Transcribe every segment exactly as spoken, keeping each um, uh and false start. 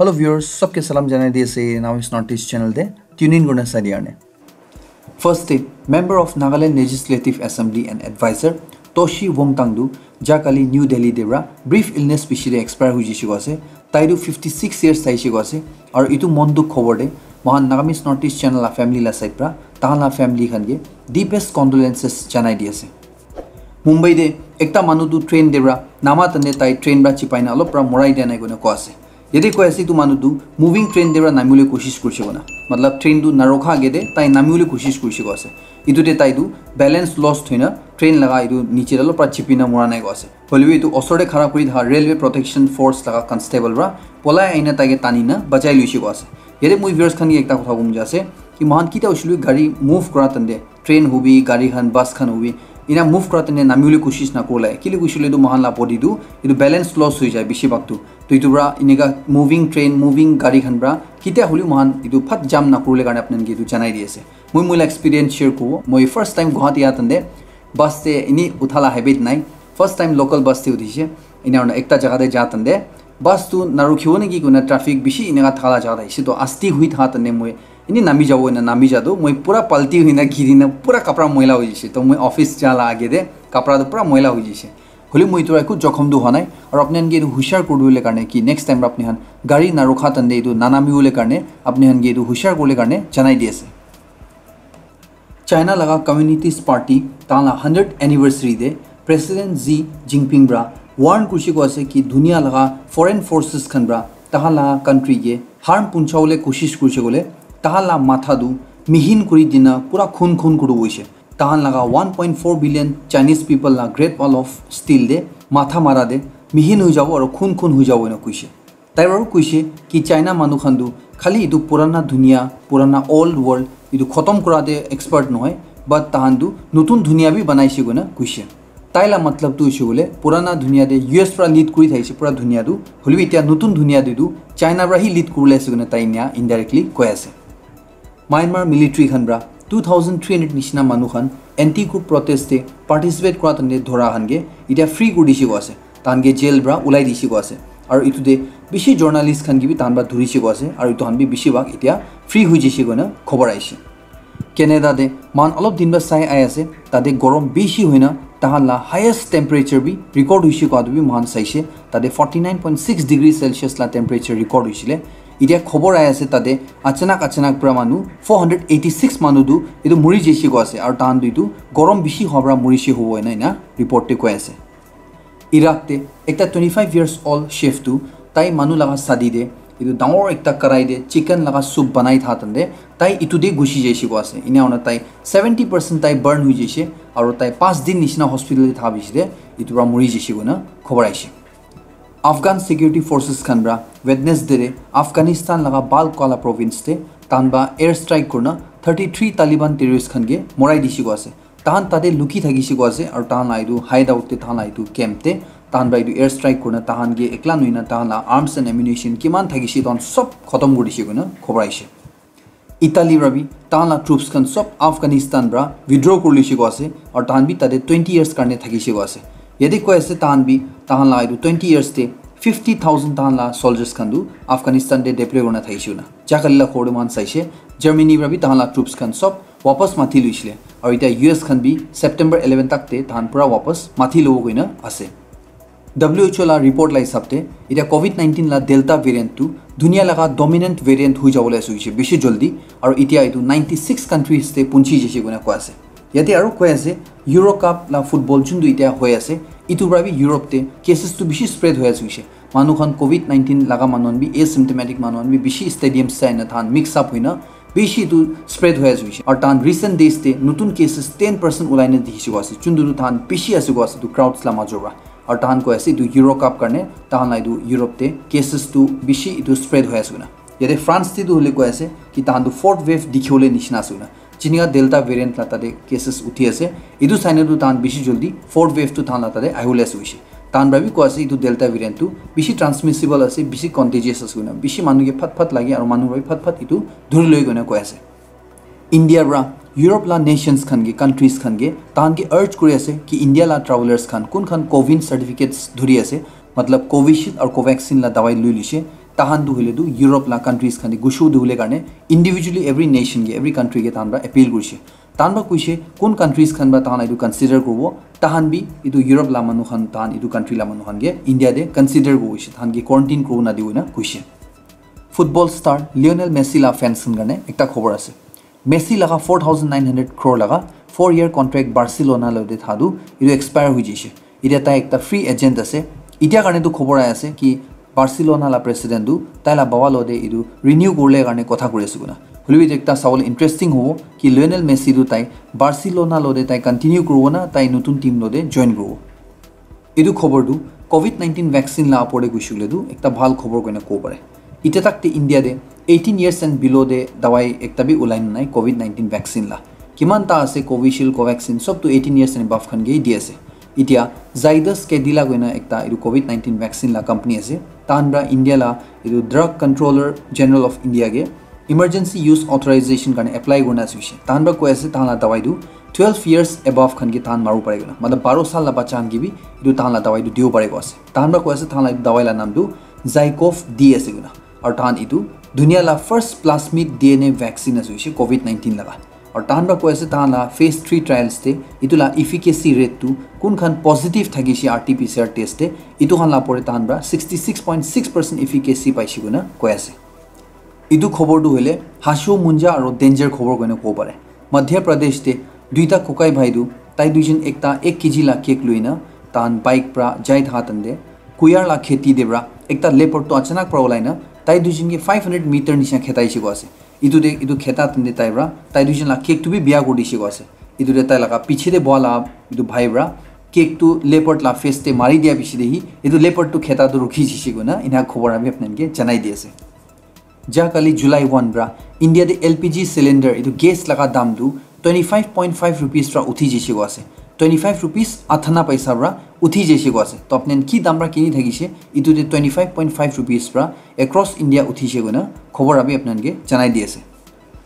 Hello viewers, sabke salam janai di ase Namis Northeast channel te tune in kurna sai dia karne. First te, member of Nagaland Legislative Assembly and advisor Toshi Wongtang tu jakali New Delhi te pra brief illness piche te expire hui jishe ko ase. Tai tu fifty six years thaishe ko ase. Aru itu mon dukh khobor te mohan Nagamese Northeast channel la family la side pra tahan la family khan ke deepest condolences janai di ase. Mumbai te ekta manu tu train te pra nama tande tai train pra chipai na olop pra morai dia nai koina koa ase. Yate koi ase itu manu tu moving train te pra namibole koshish kurishe koina. Matlab train tu narokha age te tai namibole koshish kurishe koa ase. Itu te tai tu balance lost hoina train laga itu niche te olop pra chipi na mora nai koa ase. Hoilebi itu osor te khara kuri thaka railway protection force laga constable pra polai aina tai ke tani na bachai luishe koa ase. Yate moi viewers khan ke ekta kotha kom ja ase ki mohan kita hoishe le gari move kura tande train hobi, gari khan, bus khan hobi, ina move kura tene namibole koshish nakurle. Kile koishe le tu mohan la body tu itu balance loss hoi jai bishi bhag tu. To itu pra inika moving train, moving gari khan pra kitia holi mohan itu phat jam nakurle karne apnan ke itu janai di ase. Moi moi la experience share kubo. Moi first time Guwahati aa tande bus te ini uthala habit nai. First time local bus te utishe. Ina hona ekta jaga te ja tande bus tu narukhibo neki koina traffic bishi inika thala jaga te ase. To asti hui tha tande moi ini nami jabo ena nami jado moi pura palti hoina giri na pura kapra moila hoi jise. To moi office ja la age de kapra tu pura moila hoi jise. Holi moi tu eku jokhom tu honai. Aru apni khan ke etu hushar kuri dibole karne ki next time apni khan gari narukha tande etu nanami bole karne apni khan ke etu hushar kurle karne janai di ase. China laga Communist Party tahan la hundred anniversary de President Xi Jinping pra warn kurishe ko ase ki dunia laga foreign forces khan pra tahan la country ke harm punchawole koshish kurishe kole tahan la matha tu mihin kuri dina pura khun khun kuri hoise. Tahan laga one point four billion Chinese people la Great Wall of Steel de matha mara de mihin hui jabo aru khun khun hui jabo ena kuishe. Tai aru kuishe ki China manu khan tu khali etu purana dunia, purana old world etu khotom kura de expert nohoi, but tahan tu notun dunia bi banaishe koina kuishe. Tai la matlab tu hoishe koile purana dunia de U S pra lead kuri thaishe pura dunia tu, hoilebi etia notun dunia de tu China pra hi lead kuribole ase koina tai enia indirectly koi ase. Myanmar military khan pra two thousand three hundred nishina manu khan anti coup protest te participate kura tande dhora khan ke etia free kuri dishe ko ase. Tahan ke jail pra ulai dishe ko ase. Aru etu te bishi journalist khan ke bi tahan pra dhurishe ko ase. Aru etu khan bi bishi bhag etia free hui jishe koina khobor aishe. Canada te mohan olop din pra sai ai ase, tate gorom bishi hoina tahan la highest temperature bi record hoishe koa tu bi mohan saishe. Tate forty nine point six degree Celsius la temperature record hoishile. Etia khobor ai ase tate achanak achanak pra manu four hundred eighty six manu tu etu muri jaishe koa ase aru tahan tu etu gorom bishi hoa pra murishe hobo ena ena report te koi ase. Iraq te ekta twenty five years old chef tu tai manu laga shadi te etu dangor ekta karai te chicken laga soup banai tha tande tai etu te gushi jaishe koa ase. Ena hoina tai seventy percent tai burn hui jaishe aru tai panch din nishina hospital te tha bishi te etu pra muri jaishe koina khobor aishe. Afghan security forces khan pra Wednesday te Afghanistan laga Balkala province te tahan pra air strike kurina thirty three Taliban terrorist khan ke morai dishe koa ase. Tahan tate luki thakishe koa ase aru tahan la etu hideout te tahan la etu camp te tahan pra etu air strike kurina tahan ke ekla nohoina tahan la arms and ammunition kiman thakishe tahan sob khotom kuri dishe koina khobor aishe. Italy pra bi tahan la troops khan sob Afghanistan pra withdraw kuri lishe koa ase aru tahan bi tate twenty years karne thakishe koa ase. Yate koi ase tahan bi tahan la etu twenty years te fifty thousand tahan la soldiers khan tu Afghanistan te deploy kurina thakishe koina. Jakali la khobor te mohan saishe Germany pra bi tahan la troops khan sob wapas mati luishile aru etia U S khan bi September eleven tak te tahan pura wapas mati lobo koina ase. W H O la report la hisab te etia covid nineteen la Delta variant tu dunia laga dominant variant hui jabole ase hoishe bishi jaldi aru etia etu ninety six countries te punchi jaishe koina koi ase. Yate aru koi ase Euro Cup la football juntu etia hoi ase etu pra bi Europe te cases tu bishi spread hoi ase hoishe. Manu khan covid nineteen laga manu khan bi asymptomatic manu khan bi bishi stadium sai na tahan mix up hoina bishi etu spread hoi ase hoishe. Aru tahan recent days te notun cases ten percent ulai na dikhi ase koa ase juntu tu tahan bishi ase koa ase etu crowds la major pra. Aru tahan koi ase etu Euro Cup karne tahan la etu Europe te cases tu bishi etu spread hoi ase koina. Yate France te tu hoile koi ase ki tahan tu fourth wave dikhibole nishina ase koina. Jinika Delta variant la tate cases uthi ase. Etu sai na tu tahan bishi jaldi fourth wave tu tahan la tate ahibole ase hoishe. Tahan pra bi koi ase etu Delta variant tu bishi transmissible ase, bishi contagious ase koina. Bishi manu ke phat phat lage aru manu pra bi phat phat etu dhuri loi koina koi ase. India pra Europe la nations khan ke, countries khan ke tahan ke urge kuri ase ki India la travellers khan kun khan covid certificates dhuri ase, matlab Covishield aru Covaxin la dawai lui lishe, Tahan tu hoile tu Europe la countries khan de gushu de hule karne individually every nation ke, every country ke tahan pra appeal kurishe. Tahan pra kuishe kun countries khan pra tahan etu consider kuribo, tahan bi etu Europe la manu khan, tahan etu country la manu khan ke India de consider kuribo kuishe, tahan ke quarantine kuribo na dibo na kuishe. Football star Lionel Messi la fans khan karne ekta khobor ase. Messi laga four thousand nine hundred crore laga four year contract Barcelona lo de thadu etu expire hui jishe. Itia tai ekta free agent ase. Itia karne tu khobor ai ase ki Barcelona la president tu tai la baba lo de etu renew kurle karne kotha kuri ase kuna. Hoile bi etu ekta sabole interesting hobo ki Lionel Messi tu tai Barcelona lo de tai continue kuribo na tai notun team lo de join kuribo. Etu khobor tu covid nineteen vaccine la apor de kuishe koile tu ekta bhal khobor koina kobo pare. Itia tak te India de eighteen years and below de dawai ekta bi ulai na nai covid nineteen vaccine la. Kiman ta ase Covishield, Covaxin, sob tu eighteen years and above khan ke di ase. Itia Zydus Cadila koina ekta etu covid nineteen vaccine la company ase. Tahan pra India la etu Drug Controller General of India ke emergency use authorization karne apply kurna ase hoishe. Tahan pra koi ase tahan la dawai tu twelve years above khan ke tahan maru pare koina. Matlab baro sal la bacha khan ke bi etu tahan la dawai tu dibo pare ko ase. Tahan pra koi ase tahan la etu dawai la naam tu Zycov D ase koina. Aru tahan etu dunia la first plasmid D N A vaccine ase hoishe covid nineteen laga. Aru tahan pra koi ase tahan la phase three trials te etu la efficacy rate tu kun khan positive thakishe R T P C R test te etu khan la pore tahan pra sixty six point six percent efficacy paishe koina koi ase. Etu khobor tu hoile hashu munja aru danger khobor koina kobo pare. Madhya Pradesh te duita kokai bhai tu tai duijon ekta ek K G la cake loina tahan bike pra jai thaka tande kuyar la kheti de pra ekta leopard tu achanak pra ulai na tai duijon ke five hundred meter nisha khetaishe ko ase. Etu de etu kheta tande tai pra tai duijon la cake tu bi biya kuri dishe ko ase. Etu de tai laga piche de boa la etu bhai pra cake tu leopard la face te mari dia piche de hi etu leopard tu kheta tu rukhi jishe koina ena khobor ami apnan ke janai di ase. Ja kali July one pra India de L P G cylinder etu gas laga dam tu twenty five point five rupees pra uthi jishe ko ase. Twenty five rupees athana paisa pra uthi jishe ko ase. To apnan ki dam pra kini thakishe etu de twenty five point five rupees pra across India uthishe koina khobor ami apnan ke janai di ase.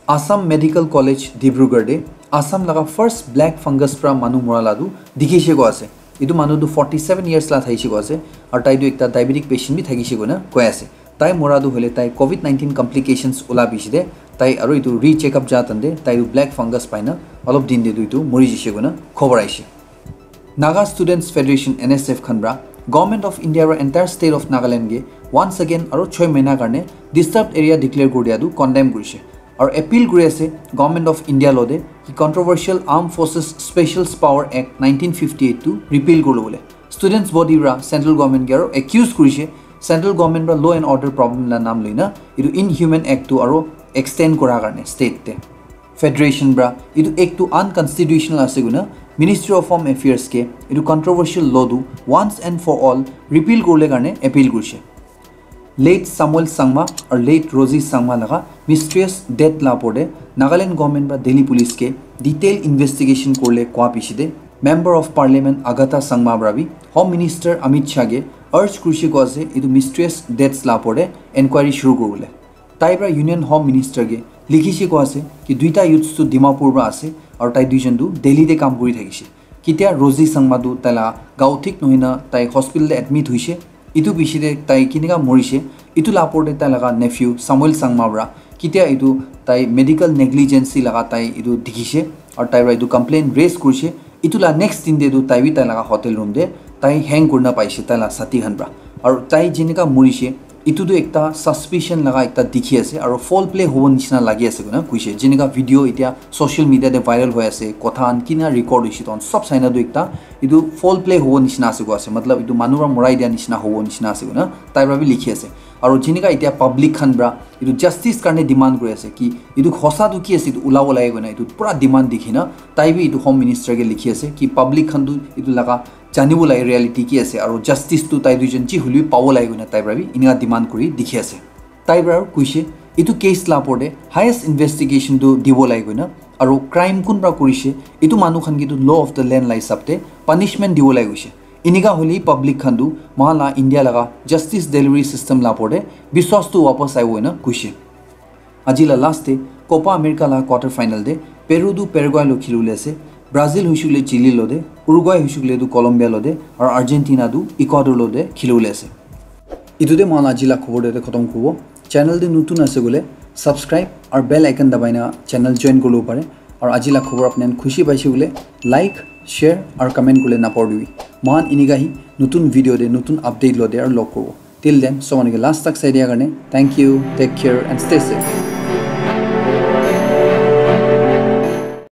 Assam Medical College Dibrugarh de Assam laga first black fungus pra manu mura la tu dikhishe ko ase. Etu manu tu forty seven years la thaishe ko ase aru tai tu ekta diabetic patient bi thakishe koina koi ase. Tai mura tu hoile tai covid nineteen complications ula bishi de tai aru etu re check up ja tande tai tu black fungus paina olop din de tu etu muri jishe koina khobor aishe. Naga Students Federation N S F khan pra Government of India ra entire state of Nagaland ke once again aru choi mahina karne disturbed area declare kuri dia tu condemn kurishe. Aru appeal kuri ase Government of India lo de ki controversial Armed Forces Special Power Act nineteen fifty eight tu repeal kurlo bole. Students body pra central government ke aru accuse kurishe central government pra law and order problem la naam loina etu inhuman act tu aru extend kura karne state te. Federation pra etu act tu unconstitutional ase koina Ministry of Home Affairs ke etu controversial law tu once and for all repeal kurle karne appeal kurishe. Late Samuel Sangma aru late Rosie Sangma laga mysterious death la opor de Nagaland government pra Delhi police ke detail investigation kurle koa piche de Member of Parliament Agatha Sangma pra bi Home Minister Amit Shah ke urge kurishe ko ase etu mysterious deaths la opor de enquiry shuru kuribole. Tai pra Union Home Minister ke likhishe ko ase ki duita youths tu Dimapur pra ase aru tai duijon tu Delhi te kam kuri thakishe. Kitia Rosie Sangma tu tai la gao thik nohoi na tai hospital te admit hoishe. Etu piche te tai kinika morishe, etu la opor te tai laga nephew Samuel Sangma pra kitia etu tai medical negligence laga tai etu dikhishe aru tai pra etu complaint raise kurishe. Etu la next din te tu tai bi tai laga hotel room te tai hang kurina paishe tai la sathi khan pra. Aru tai jenika morishe, etu tu ekta suspicion laga ekta dikhi ase aru foul play hobo nishina lagi ase koina kuishe. Jenika video itia social media te viral hoi ase, kotha khan kina record hoishe, toh sob saina tu ekta etu foul play hobo nishina ase koi ase, matlab etu manu para morai dia nishina hobo nishina ase koina tai para bi likhi ase. Aru jinika etia public khan para etu justice karne demand kuri ase ki etu hosa tu ki ase, etu ulabo lage koina etu pura demand dikhi na tai bi etu home minister ke likhi ase ki public khan tu etu laga janibo lage reality ki ase, aru justice tu tai duijon ji hoilebi pabo lage koina tai para bi enika demand kuri dikhi ase. Tai para kuishe, etu case la opor te highest investigation tu dibo lage koina, aru crime kun para kurishe, etu manu khan ke tu law of the land la hisab te punishment dibo lage kuishe. Enika hoile public khan tu moikhan la India laga justice delivery system la opor te biswas tu wapas aibo koina kuishe. Aji la last te Copa America la quarter final te Peru tu Paraguay lo khilibole ase, Brazil huishe koile Chile lo te, Uruguay huishe koile tu Colombia lo te, aru Argentina tu Ecuador lo te khilibole ase. Etu te mohan aji la khobor te khotom kuribo. Channel te notun ase koile subscribe aru bell icon dabai na channel join kuribo pare. Aru aji la khobor apni khan khushi paise koile like, share aru comment kule napahoribi. Mohan enika hi notun video te notun update lo te aru log kuribo. Till then, so manu ke last tak sai dia karne thank you, take care and stay safe.